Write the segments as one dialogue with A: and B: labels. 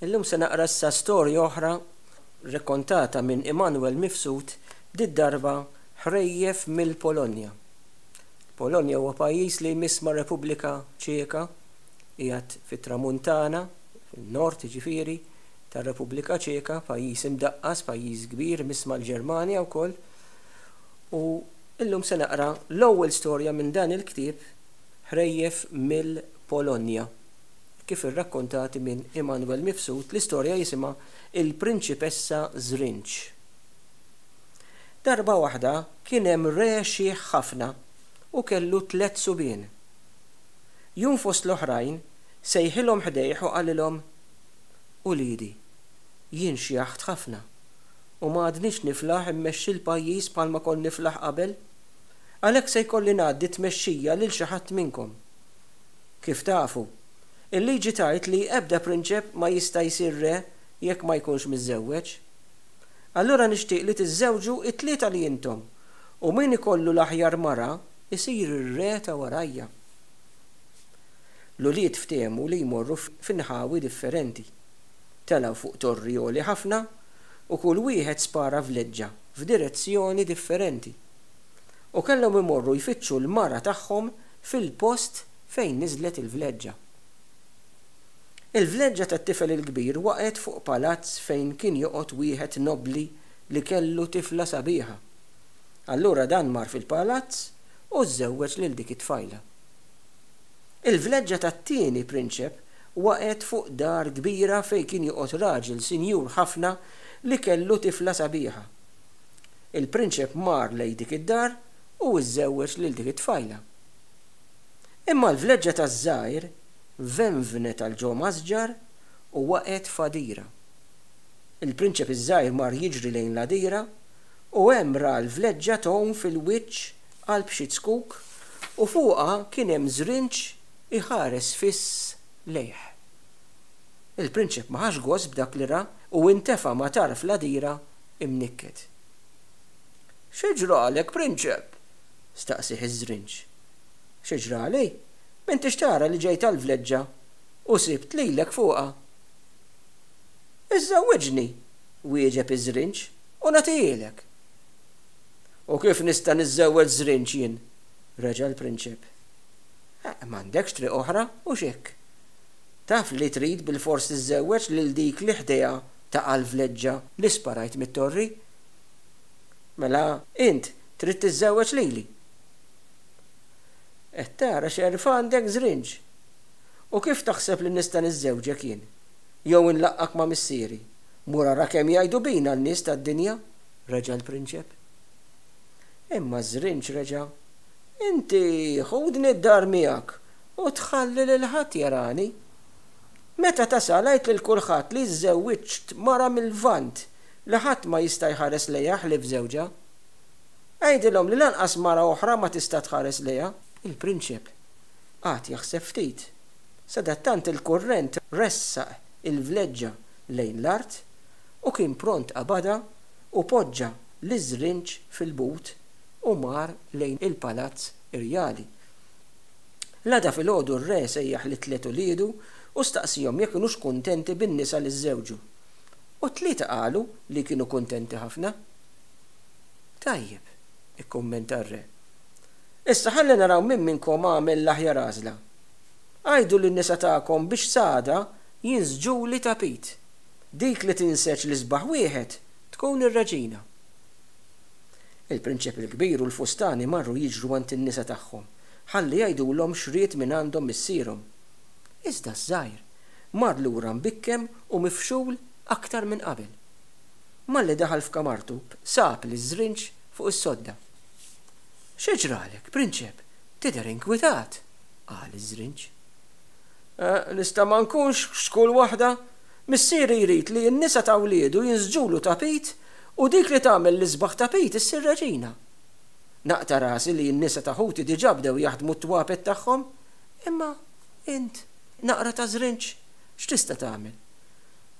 A: Illum se naqra issa storja oħra rrakkontata minn Immanuel Mifsud, did-darba Ħrejjef mill-Polonja. Polonja huwa pajjiż li jmiss mar-Repubblika Ċeka, qiegħed fit-tramuntana, fin-nord jiġifieri, tar-Repubblika Ċeka, pajjiż imdaqqas, pajjiż kbir, imiss mal-Ġermanja wkoll. U illum se naqra l-ewwel storja minn dan il-ktieb Ħrejjef mill-Polonja, kif irrakkontati minn Immanuel Mifsud, l-istorja jisimha Il-Prinċipessa Żrinġ. Darba waħda kien hemm re xiħ ħafna u kellu tlett subien. Jum fost l-oħrajn sejħilhom ħdejh u qalilhom, Uliedi, jien xjaħt ħafna u ma għadnix niflaħ immexxi l-pajjiż bħalma kont niflaħ qabel. Għalhekk se jkolli ngħaddi t-tmexxija lil xi ħadd minnkom. Kif tafu, il-liġi tgħid li ebda prinċep ma jista' jsir re jekk ma jkunx miżżewweġ. Allura nixtieq li tiżżewġu t-tlieta li intom, u min ikollu l-aħjar mara jsir ir-re ta' warajja. L-ulied ftehmu li jmorru f'inħawi differenti. Telgħu fuq torri għoli ħafna u kull wieħed spara vleġġa f'direzzjoni differenti. U kellhom imorru jfittxu l-mara tagħhom fil-post fejn niżlet il-vleġġa. Il-vleġġa tat-tifel il-kbir waqgħet fuq palazz fejn kien joqgħod wieħed nobbli li kellu tifla sabiħa. Allura dan mar fil-palazz u żżewweġ lil dik it-tfajla. Il-vleġġa tat-tieni prinċep waqgħet fuq dar kbira fejn kien joqgħod raġel sinjur ħafna li kellu tifla sabiħa. Il-prinċep mar lejn dik id-dar u żżewweġ lil dik it-tfajla. Imma l-vleġġa taż-żgħir venvnet għal ġo masġar u waqgħet f'għadira. Il-prinċep iż-żgħir mar jiġri lejn l-għadira u hemm ra l-vleġġa tgħum fil-wiċċ qalb xi zkuk u fuqha kien hemm żrinġ iħares fiss lejh. Il-prinċep ma ħax gost b'dak li ra u intefa' ma' tarf l-għadira imnikket. Xi ġralek, prinċep? staqsieh iż-żrinġ. Xi ġrali? M'intix tara li ġejt għall-vleġġa u sibt lilek fuqha? Iżżewwiġni, wieġeb iż-żrinġ, u nagħtihielek. U kif nista' niżżewweġ żrinġ jien? reġa' l-prinċep. M'għandekx triq oħra, hux hekk? Taf li trid bilfors tiżżewweġ lil dik li ħdejha taqa' l-vleġġa li sparajt mit-torri. Mela int trid tiżżewweġ lili. Qed tara x'għerf għandek żrinġ! U kif taħseb li nista' niżżewġek jien? Jew inlaqqgħek ma' missieri? Mur ara kemm jgħidu bina n-nies tad-dinja! reġa' l-prinċep. Imma ż-żrinġ reġa', Inti ħudni d-dar miegħek u tħalli lil ħadd jarani. Meta tasal għid lil kulħadd li żżewwiġt mara mil-Lvant li ħadd ma jista' jħares lejha ħlief żewġha. Għidilhom li lanqas mara oħra ma tista' tħares lejha. Il-prinċep qagħad jaħseb ftit. Sadattant il-kurrent ressaq il-vleġġa lejn l-art u kien pront qabadha u poġġa liż-żrinġ fil-but u mar lejn il-palazz irjali. L-għada filgħodu r-re sejjaħ lit-tliet uliedu u staqsiehom jekk kinux kuntenti bin-nisa li żżewġu. U t-tlieta qalu li kienu kuntenti ħafna. Tajjeb, ikkummenta r-re. Issa ħalli naraw min minnkom għamel l-aħjar għażla. Għidu lin-nisa tagħkom biex s'għada jinsġuli tapit. Dik li tinseġ l-isbaħ wieħed tkun ir-reġina. Il-prinċep il-kbir u l-fustani marru jiġru għand in-nisa tagħhom ħalli jgħidulhom x'ried mingħandhom missierhom. Iżda ż-żgħir mar lura mbikkem u mifxul aktar minn qabel. Malli daħal f'kamartu sab liż-żrinġ fuq is-sodda. Xi ġralek, prinċep? Tidher inkwitat, qal iż-żrinġ. Eh, nista' ma nkunx x'kull waħda? Missieri jrid li n-nisa ta' wliedu jinsġulu tapit u dik li tagħmel l-isbaħ tapit issir reġina. Naqta' rasi li n-nisa ta' ħuti diġà bdew jaħdmu t-twapet tagħhom, imma int, naqra ta' żrinġ, x'tista' tagħmel?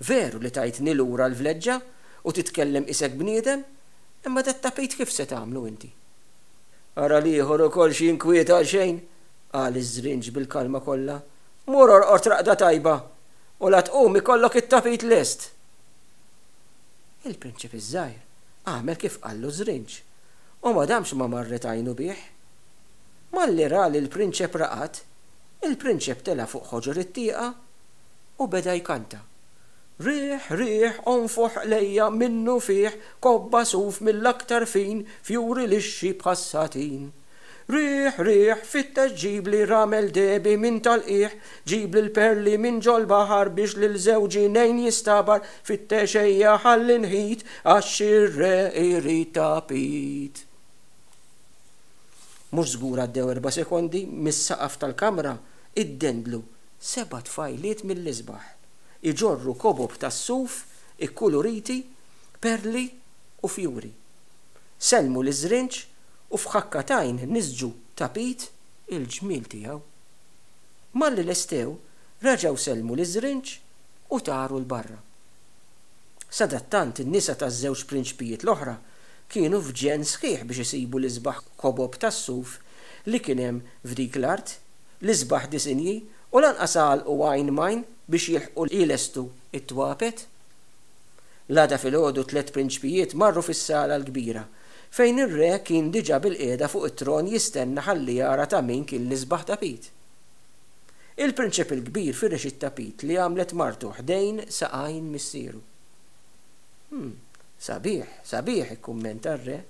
A: Veru li tajtni lura l-vleġġa u titkellem qisek bniedem, imma dat-tapit kif se tagħmlu inti? Ara l-ieħor ukoll x'jinkwieta għal xejn, qal iż-żrinġ bil-kalma kollha. Mur orqod raqda tajba! U la tqum ikollok it-tapit lest! Il-prinċep iż-żgħir għamel kif qallu ż-żrinġ u ma damx ma marret għajnu bih. Malli ra li l-prinċep raqad, il-prinċep tela' fuq ħoġor it-tieqa u beda jkanta, Riħ, riħ, onfoħ qlejja minnufih kobba suf mill-aktar fin, fjuri lixxi bħas-satin. Riħ, riħ, fittex ġibli ramel dehbi minn tal-qiegħ, ġibli l-perli minn ġol-baħar biex lil żewġi ngħin jistabar, fittex ejja ħalli nħit għax ir-re jrid tapit. Mhux żgur għaddew erba' sekondi, mis-saqaf tal-kamra iddendlu seba' tfajliet mill-isbaħ, iġorru kobob tas-suf ikkuluriti, perli u fjuri. Sellmu liż-żrinġ u f'ħakka t'għajn nisġu tapit il-ġmiel tiegħu. Malli lestew, reġgħu sellmu liż-żrinġ u taru 'l barra. Sadattant in-nisa taż-żewġ prinċpijiet l-oħra kienu f'ġenn sħiħ biex isibu l-isbaħ kobob tas-suf li kien hemm f'dik l-art, l-isbaħ disinji u lanqas għalqu għajn m'għajn biex jilħqu jlestu t-twapet. L-għada filgħodu t-tliet prinċpijiet marru fis-sala l-kbira, fejn ir-re kien diġà bilqiegħda fuq it-tron jistenna ħalli jara ta' min kien l-isbaħ tapit. Il-prinċep il-kbir firex it-tapit li għamlet martu ħdejn saqajn missieru. Hm, sabiħ, sabiħ, ikkummenta r-re.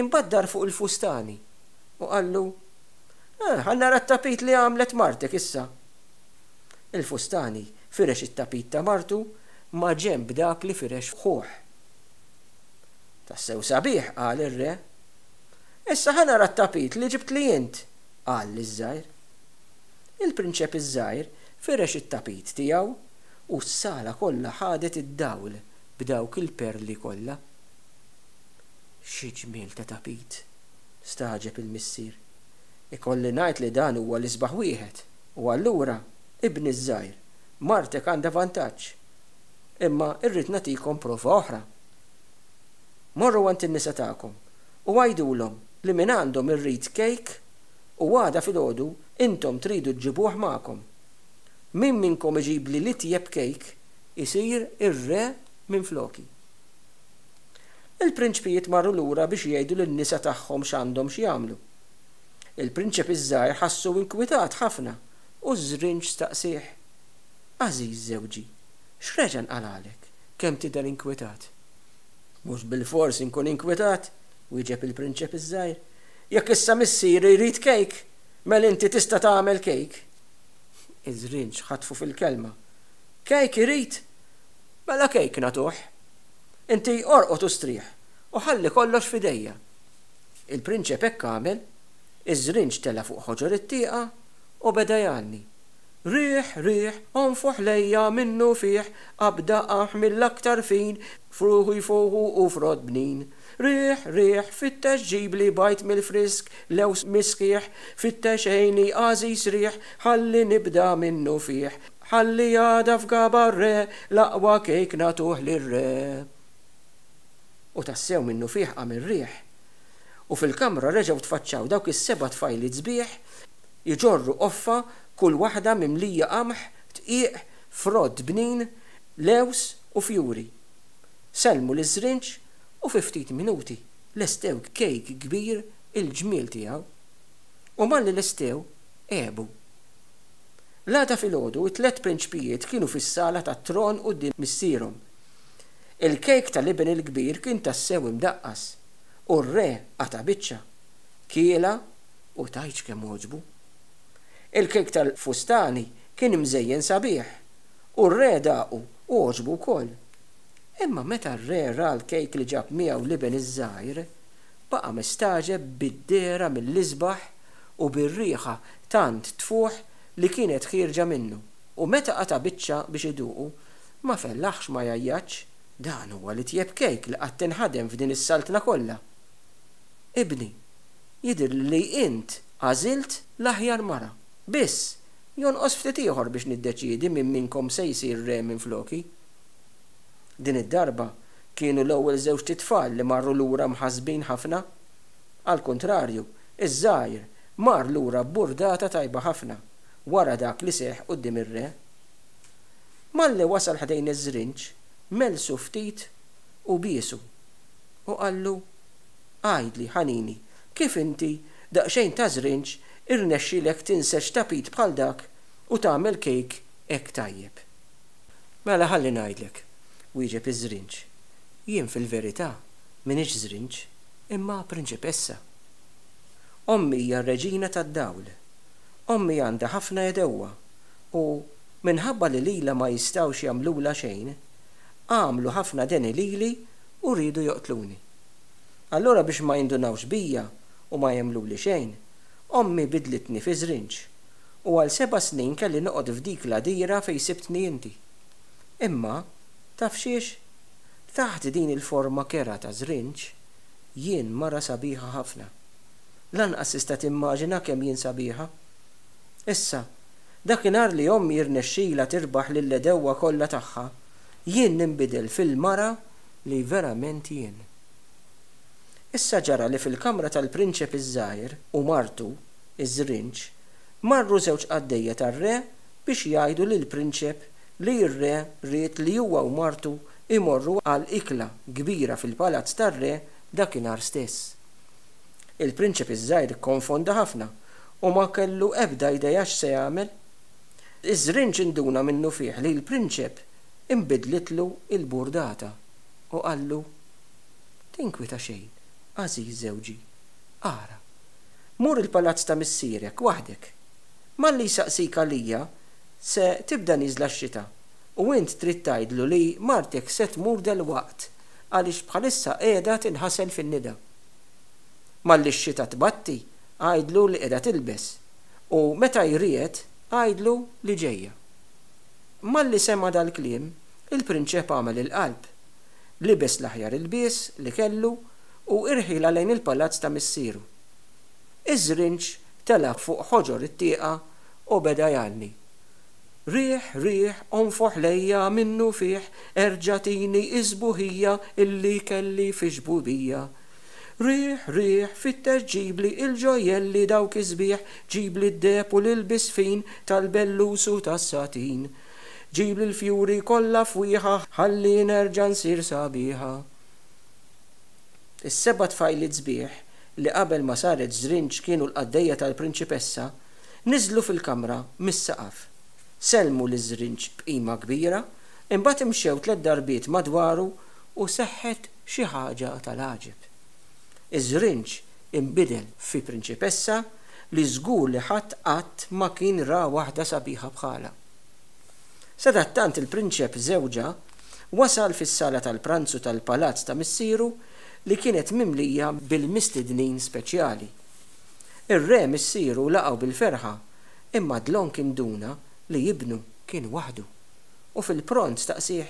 A: Imbagħad dar fuq il-fustani u qallu, Eh, ħa nara t-tapit li għamlet martek issa. Il-fustani firex it-tapit ta' martu maġenb dak li firex ħuh. Tassew sabiħ, qal ir-re. Issa ħa nara t-tapit li ġibtli int, qal liż-żgħir. Il-prinċep iż-żgħir firex it-tapit tiegħu u s-sala kollha ħadet id-dawl b'dawk il-perli kollha. Xi ġmiel ta' tapit! stagħġeb il-missier. Ikolli ngħid li dan huwa l-isbaħ wieħed, u allura, ibni ż-żgħir, martek għandha vantaġġ. Imma rrid nagħtikom prova oħra. Morru għand in-nisa tagħkom u għidulhom li mingħandhom irrid kejk u għada filgħodu intom tridu ġġibuh magħkom. Min minnkom iġibli l-itjeb kejk isir ir-re minfloki. Il-prinċpijiet marru lura biex jgħidu lin-nisa tagħhom x'għandhom x'jagħmlu. Il-prinċep iż-żgħir ħassu inkwitat ħafna u ż-żrinġ staqsieh, Għażiż żewġi, x'reġa' nqalagħlek, kemm tidher inkwetat? Mhux bilfors inkun inkwetat, wieġeb il-prinċep iż-żgħir. Jekk issa missieri jrid kejk, mela inti tista' tagħmel kejk. Iż-żrinġ ħatfu fil-kelma. Kejk irid? Mela kejk nagħtuh. Inti orqod u strieħ, u ħalli kollox f'idejja. Il-prinċep hekk għamel, iż-żrinġ tela' fuq ħoġor it-tieqa u beda jgħanni. Riħ, riħ, onfoħ lejja minnufih, qabda qamħ mill-aktar fin, fruħu jfuħu u frott bnin. Riħ, riħ, fittex ġibli bajd mill-frisk, lewż mis-sħiħ, fittex għini għażiż riħ, ħalli nibda minnufih. Ħalli għada f'gaba r-re, l-aqwa kejk nagħtuh lir-re. U tassew minnufih qam ir-riħ. U fil-kamra reġgħu tfaċċaw dawk is-seba' tfajliet sbieħ, Iġorru qoffa kull waħda mimlija qamħ, dqiq, frott bnin, lewż u fjuri. Sellmu liż-żrinġ u fi ftit minuti lestew kejk kbir il-ġmiel tiegħu. U malli lestew, għebu. L-għada filgħodu t-tliet prinċpijiet kienu fis-sala tat-tron quddiem missierhom. Il-kejk tal-iben il-kbir kien tassew imdaqqas, u r-re qata' biċċa, kielha u tgħidx kemm għoġbu. Il-kejk tal-fustani kien imżejjen sabiħ, u r-re daqu u għoġbu wkoll. Imma meta r-re ra l-kejk li ġab miegħu l-iben iż-żgħir, baqa' mistagħġeb bid-dehra mill-isbaħ u bir-riħa tant tfuħ li kienet ħierġa minnu, u meta qata' biċċa biex iduqu, ma fellaħx ma jgħajjatx, Dan huwa l-itjeb kejk li qatt inħadem f'din is-saltna kollha! Ibni, jidhirli li int għażilt l-aħjar mara. Biss, jonqos ftit ieħor biex niddeċiedi min minnkom se jsir re minfloki. Din id-darba kienu l-ewwel żewġt itfal li marru lura mħassbin ħafna. Għall-kuntrarju, iż-żgħir mar lura b'burdata tajba ħafna wara dak li seħħ quddiem ir-re. Malli wasal ħdejn iż-żrinġ, mellsu ftit u biesu, u qallu, Għidli, ħanini, kif inti, daqsxejn ta' żrinġ, irnexxielek tinseġ tapit bħal dak u tagħmel kejk hekk tajjeb? Mela ħalli ngħidlek, wieġeb iż-żrinġ, jien fil-verità m'iniex żrinġ, imma prinċipessa. Ommi hija r-reġina tad-dawl. Ommi għandha ħafna għedewwa u, minħabba li lilha ma jistgħux jagħmlulha xejn, għamlu ħafna deni lili u riedu joqtluni. Allura biex ma jindunawx bija u ma jagħmluli xejn, ommi bidlitni fi żrinġ, u għal seba' snin kelli noqgħod f'dik l-għadira fejn sibtni inti. Imma, taf xiex? Taħt din il-forma kerha ta' żrinġ, jien mara sabiħa ħafna. Lanqas tista' timmaġina kemm jien sabiħa. Issa, dakinhar li ommi jirnexxilha tirbaħ lill-għedewwa kollha tagħha, jien ninbidel fil-mara li verament jien. Issa ġara li fil-kamra tal-prinċep iż-żgħir u martu, iż-żrinġ, marru żewġ qaddejja tar-re biex jgħidu lill-prinċep li r-re ried li huwa u martu jmorru għal ikla kbira fil-palazz tar-re dakinhar stess. Il-prinċep iż-żgħir ikkonfonda ħafna u ma kellu ebda idea x'se jagħmel. Iż-żrinġ induna minnufih li l-prinċep inbidlitlu l-burdata u qallu, Tinkwita xejn, għażiż żewġi. Ara, mur il-palazz ta' missierek waħdek. Malli jsaqsik għalija, se tibda nieżla x-xita u int trid tgħidlu li martek se tmur delwaqt għaliex bħalissa qiegħda tinħasel fin-nida. Malli x-xita tbatti, għidlu li qiegħda tilbes, u meta jriegħed, għidlu li ġejja. Malli sema' dal-kliem, il-prinċep għamel il-qalb. Libes l-aħjar ilbies li kellu u irħielha lejn il-palazz ta' missieru. Iż-żrinġ tela' fuq ħoġor it-tieqa u beda jgħanni, Riħ, riħ, onfoħ lejja minnufih, erġa' tini s-sbuħija illi kelli fix-xbubija. Riħ, riħ, fittex ġibli il-ġojjelli dawk is-sbieħ, ġibli d-deheb u l-ilbies fin tal-bellus u tas-satin. Ġibli l-fjuri kollha fwieħa ħalli nerġa' nsir sabiħa. Is-seba' tfajliet sbieħ, li qabel ma saret żrinġ kienu l-qaddejja tal-prinċipessa, niżlu fil-kamra mis-saqaf. Sellmu liż-żrinġ b'qima kbira, imbagħad imxew tlett darbiet madwaru u seħħet xi ħaġa tal-għaġeb. Iż-żrinġ inbidel fi prinċipessa li żgur li ħadd qatt ma kien ra waħda sabiħa bħalha. Sadattant il-prinċep żewġha wasal fis-sala tal-pranzu tal-palazz ta' missieru li kienet mimlija bil-mistednin speċjali. Ir-re missieru laqgħu bil-ferħa imma dlonk induna li ibnu kien waħdu u fil-pront staqsieh,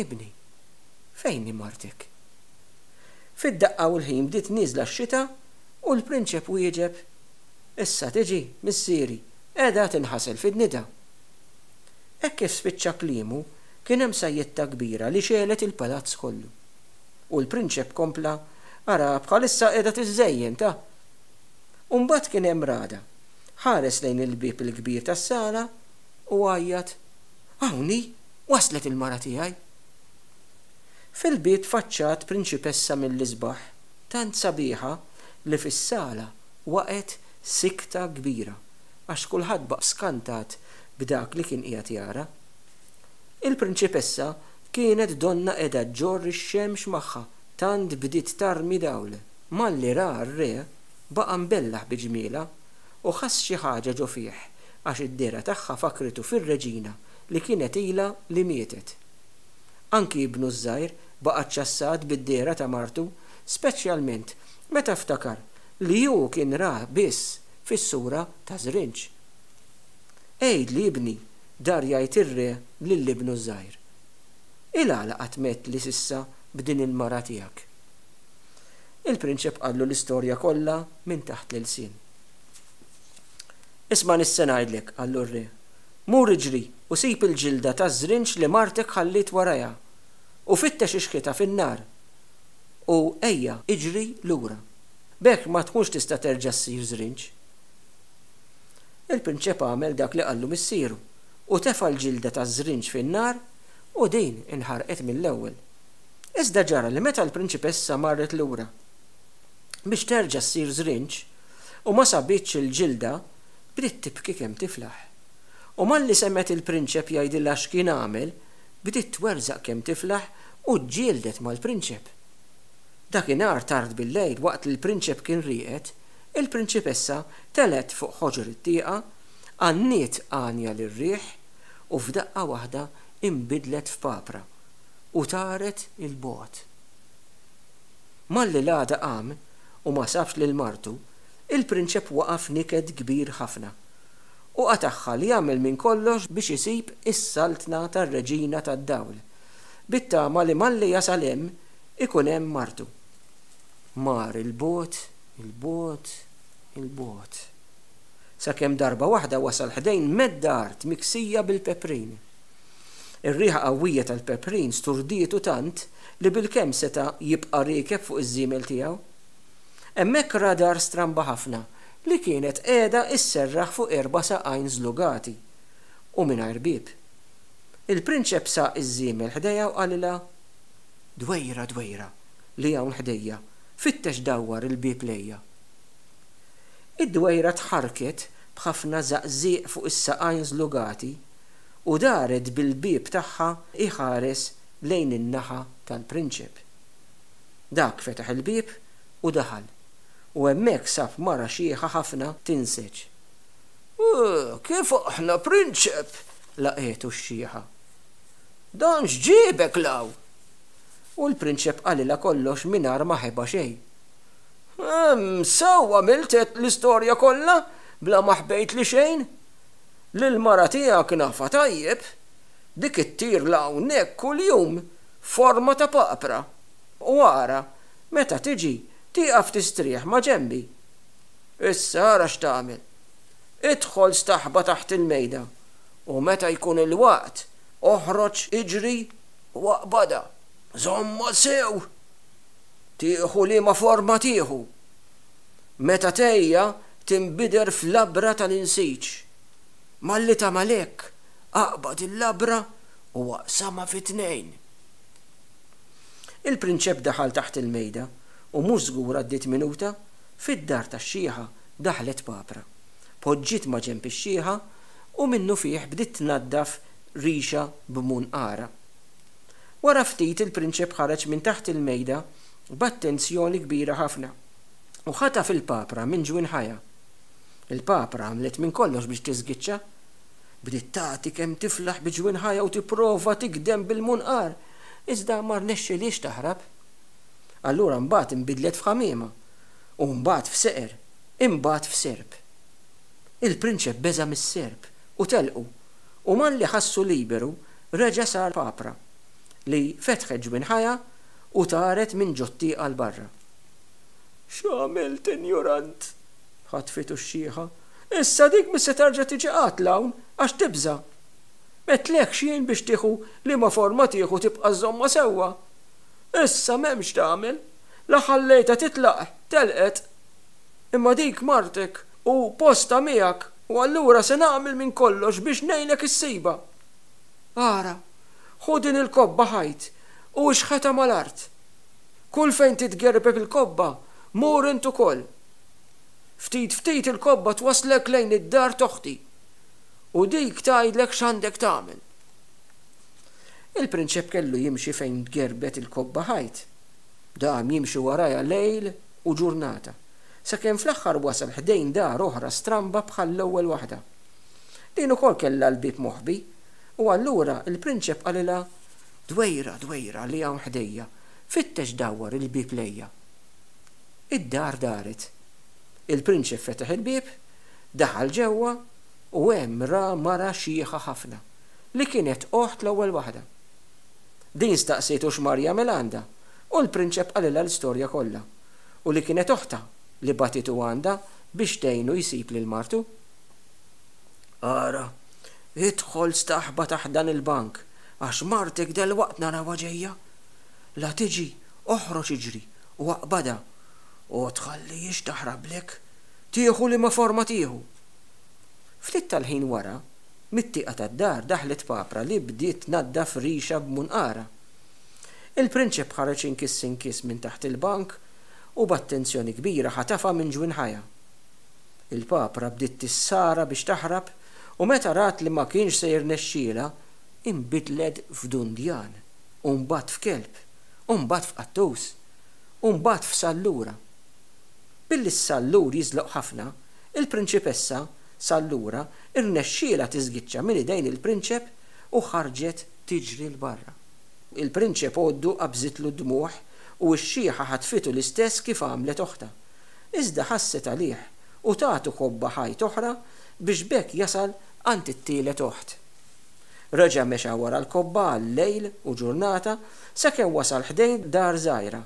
A: Ibni, fejn hi martek? Fid-daqqa u l-ħin bdiet nieżla x-xita u l-prinċep wieġeb, Issa tiġi, missieri, qiegħda tinħasel fid-nida. Hekk kif spiċċa kliemu, kien hemm sajjetta kbira li xegħlet il-palazz kollu. U l-prinċep kompla, Ara, bħalissa qiegħda tiżżejjen, ta! U mbagħad kien hemm ragħda. Ħares lejn il-bieb il-kbir tas-sala u għajjat, Hawn hi! Waslet il-mara tiegħi! Fil-bieb tfaċċat prinċipessa mill-isbaħ, tant sabiħa li fis-sala waqgħet sikta kbira għax kulħadd baqa' skantat b'dak li kien qiegħed jara. Il-prinċipessa kienet donnha qiegħda ġġorr ix-xemx magħha tant bdiet tarmi dawl. Malli ra r-re baqa' mbellah bi ġmielha u ħass xi ħaġa ġo fih għax id-dehra tagħha fakkritu fir-reġina li kienet ilha li mietet. Anki ibnu ż-żgħir baqa' ċċassat bid-dehra ta' martu speċjalment meta ftakar li hu kien ra biss fis-sura ta' żrinġ. Għidli, ibni, dar jgħid ir-re lil ibnu ż-żgħir. Il-għala qatt m'għedtli s'issa b'din il-mara tiegħek? Il-prinċep qallu l-istorja kollha minn taħt l-ilsien. Isma' x'se ngħidlek, qallu r-re. Mur iġri u sib il-ġilda taż-żrinġ li martek ħalliet warajha, u fittex ixħitha fin-nar, u ejja iġri lura. B'hekk ma tkunx tista' terġa' ssir żrinġ. Il-prinċep għamel dak li qallu missieru. U tefa' l-ġilda taż-żrinġ fin-nar u din inħarqet mill-ewwel. Iżda ġara li meta l-prinċipessa marret lura biex terġa' ssir żrinġ u ma sabitx il-ġilda, bdiet tibki kemm tiflaħ. U malli semgħet il-prinċep jgħidilha x'kien għamel, bdiet twerżaq kemm tiflaħ u ġġieldet mal-prinċep. Dakinhar tard billejl waqt li l-prinċep kien rieqed, il-prinċipessa telgħet fuq ħoġor it-tieqa, għanniet għanja lir-riħ u f'daqqa waħda inbidlet f'papra u taret 'il bogħod. Malli l-għada qam u ma sabx lil martu, il-prinċep waqa' f'niket kbir ħafna u qatagħha li jagħmel minn kollox biex isib is-saltna tar-Reġina tad-Dawl, bit-tama li malli jasal hemm ikun hemm martu. Mar 'il bogħod, 'il bogħod, 'il bogħod. Sakemm darba waħda wasal ħdejn medda art miksija bil-peprin. Ir-riħa qawwija tal-peprin sturdietu tant li bilkemm seta' jibqa' riekeb fuq iż-żiemel tiegħu. Hemmhekk ra dar stramba ħafna li kienet qiegħda sserraħ fuq erba' saqajn żlugati u mingħajr bieb. Il-prinċep saq iż-żiemel ħdejha u qalilha, Dwejra, dwejra, li hawn ħdejja, fittex dawwar il-bieb lejja. Id-dwejra tħarrket b'ħafna żaqżieq fuq is-saqajn żlugati u daret bil-bieb tagħha jħares lejn in-naħa tal-prinċep. Dak fetaħ il-bieb u daħal, u hemmhekk sab mara xiħa ħafna tinseġ. Kif aħna, prinċep? laqgħetu x-xiħa. Dan x'ġiebek 'l hawn? U l-prinċep qalilha kollox mingħajr ma ħeba xejn. Hemm, sew għamilt għedt l-istorja kollha bla ma ħbejtli xejn. Lill-mara tiegħek nafha tajjeb. Dik ittir 'l hawnhekk kuljum f'forma ta' papra. U ara, meta tiġi, tieqaf tistrieħ ma' ġenbi. Issa ara x'tagħmel. Idħol staħba taħt il-mejda u meta jkun il-waqt oħroġ iġri u aqbadha. Żommha sew! Tieħu liema forma tieħu. Meta tgħejja tinbidel f'labra tal-insiġ. Malli tagħmel hekk, aqbad il-labra u aqsamha fi tnejn. Il-prinċep daħal taħt il-mejda u mhux żgur għaddiet minuta, fid-dar tax-xiħa daħlet papra. Poġġiet maġenb ix-xiħa u minnufih bdiet tnaddaf rixha b'munqarha. Wara ftit il-prinċep ħareġ minn taħt il-mejda b'attenzjoni kbira ħafna u ħataf il-papra minn ġwinħajha. Il-papra għamlet minn kollox biex tiżgiċċa. Bdiet tagħti kemm tiflaħ bi ġwinħajha u tipprova tigdem bil-munqar, iżda ma rnexxilhiex taħrab. Allura mbagħad inbidlet f'ħamiema, u mbagħad f'seqer, imbagħad f'serp. Il-prinċep beża' mis-serp u telqu, u malli ħassu liberu reġa' sar papra, li fetħet ġwinħajha u taret minn ġot-tieqa 'l barra. X'għamilt, injurant? ħatfitu x-xiħa. Issa dik mhix se terġa' tiġi qatt 'l hawn għax tibża'. M'għedtlekx jien biex tieħu liema forma tieħu tibqa' żżommha sewwa. Issa m'hemm x'tagħmel. La ħallejtha titlaq, telqet. Imma dik martek u postha miegħek u allura se nagħmel minn kollox biex ngħinek issibha. Ara, ħu din il-kobba ħajt u ixħetha mal-art. Kull fejn titgerbeb il-kobba, mur int ukoll. Ftit ftit il-kobba twasslek lejn id-dar t'oħti, u dik tgħidlek x'għandek tagħmel. Il-prinċep kellu jimxi fejn tgerbet il-kobba ħajt. Dam jimxi warajha lejl u ġurnata, sakemm fl-aħħar wasal ħdejn dar oħra stramba bħall-ewwel waħda. Din ukoll kellha l-bieb moħbi, u allura l-prinċep qalilha, Dwejra, dwejra li hawn ħdejja, fittex dawwar il-bieb lejja. Id-dar daret. Il-prinċep fetaħ il-bieb, daħal ġewwa u hemm ra mara xiħa ħafna, li kienet oħt l-ewwel waħda. Din staqsietu x'mar jagħmel għandha, u l-prinċep qalilha l-istorja kollha, u li kienet oħtha li bagħtitu għandha biex tgħinu jsib lil martu. Ara, idħol staħba taħt dan il-bank, għax martek delwaqt narawha ġejja. La tiġi, oħroġ iġri u aqbadha, u tħallihiex taħrablek, tieħu liema forma tieħu. Ftit tal-ħin wara, Mit-tieqa tad-dar daħlet papra li bdiet tnaddaf rixa b'munqarha. Il-prinċep ħareġ inkiss inkiss minn taħt il-bank u b'attenzjoni kbira ħatafha minn ġwinħajha. Il-papra bdiet tissara biex taħrab u meta rat li ma kienx se jirnexxielha, inbidlet f'dundjan u mbagħad f'kelb u mbagħad f'qattus u mbagħad f'sallura. Billi s-sallur jiżloq ħafna, il-prinċipessa Sallura rnexxielha tiżgiċċa minn idejn il-prinċep u ħarġet tiġri 'l barra. Il-prinċep għoddu qabżitlu d-dmugħ u x-xiħa ħatfitu l-istess kif għamlet oħtha. Iżda ħasset għalih u tatu kobba ħajt oħra biex b'hekk jasal għand it-tielet oħt. Reġa' mexa wara l-kobba għal lejl u ġurnata sakemm wasal ħdejn dar żgħira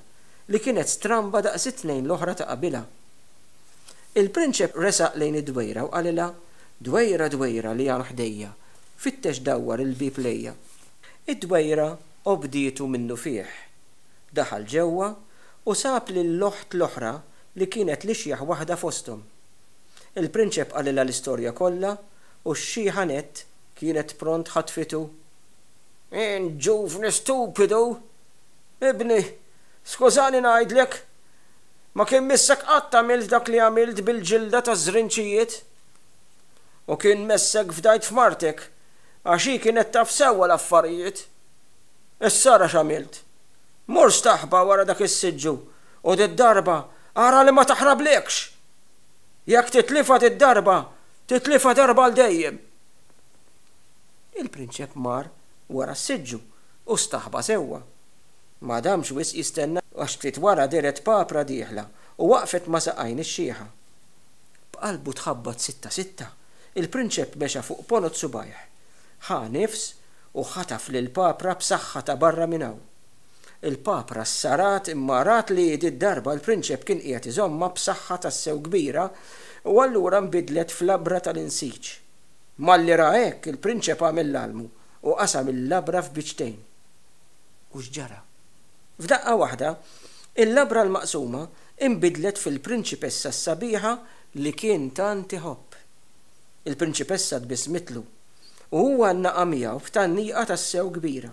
A: li kienet stramba daqs it-tnejn l-oħra ta' qabilha. Il-prinċep resaq lejn id-dwejra u qalilha, Dwejra, dwejra li hawn ħdejja, fittex dawwar il-bieb lejja. Id-dwejra obdietu minnufih. Daħal ġewwa u sab lill-oħt l-oħra li kienet l-ixjaħ waħda fosthom. Il-prinċep qalilha l-istorja kollha u x-xiħa nett kienet pront ħatfitu. Int ġuvni stupidu! Ibni, skużani ngħidlek, Ma kien missek qatt għamilt dak li għamilt bil-ġilda taż-żrinċijiet. U kien messek fdajt f'martek, għax hi kienet taf sewwa l-affarijiet. Issa ara x'għamilt. Mur staħba wara dak is-siġġu u did-darba ara li ma taħrablekx! Jekk titlifha did-darba, titlifha darba għal dejjem! Il-prinċep mar wara s-siġġu u staħba sewwa. Ma damx wisq jistenna għax ftit wara dehret papra dieħla u waqfet ma' saqajn ix-xiħa. B'qalbu tħabbat sitta sitta, il-prinċep mexa fuq ponot subgħajh. Ħa nifs u ħataf lill-papra b'saħħa ta' barra minn hawn. Il-papra ssarat imma rat li did-darba l-prinċep kien qiegħed iżommha b'saħħa tassew kbira u allura nbidlet f'labra tal-insiġ. Malli ra hekk, il-prinċep għamel l-almu u qasam il-labra f'biċċtejn. U x'ġara? F'daqqa waħda, il-labra l-maqsuma inbidlet fil-prinċipessa s-sabiħa li kien tant iħobb. Il-prinċipessa tbissmitlu, u huwa għannaqha miegħu b'tgħanniqa tassew kbira.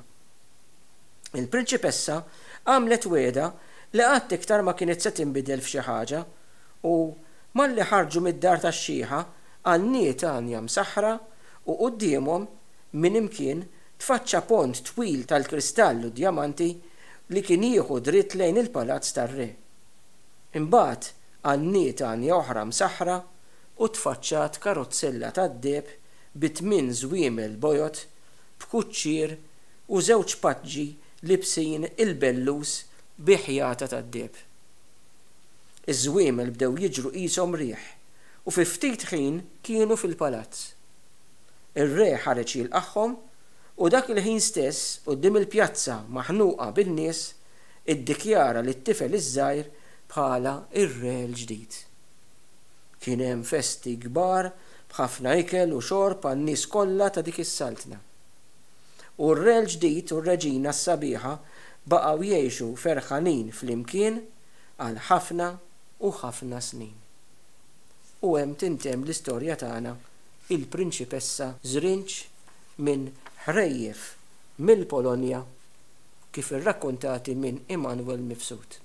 A: Il-prinċipessa għamlet wegħda li qatt iktar ma kienet se tinbidel f'xi ħaġa u, malli ħarġu mid-dar tax-xiħa, għanniet għanja msaħħra u quddiemhom, minn imkien, tfaċċa pont twil tal-kristall u djamanti li kien jieħu dritt lejn il-palazz tar-re. Imbagħad għanniet għanja oħra msaħħra u tfaċċat karozzella tad-deheb bi tmien żwiemel bojod, b'kuċċier u żewġ paġġi libsin il-bellus bi ħjata tad-deheb. Iż-żwiemel bdew jiġru qishom riħ u fi ftit ħin kienu fil-palazz. Ir-re ħareġ jilqagħhom u dak il-ħin stess, quddiem il-pjazza maħnuqa bin-nies, iddikjara lit-tifel iż-żgħir bħala r-re l-ġdid. Kien hemm festi kbar b'ħafna ikel u xorb għan-nies kollha ta' dik is-saltna. U r-re l-ġdid u r-reġina s-sabiħa baqgħu jgħixu ferħanin flimkien għal ħafna u ħafna snin. U hemm tintemm l-istorja tagħna Il-Prinċipessa Żrinġ minn Ħrejjef mill-Polonja kif irrakkuntati minn Immanuel Mifsud.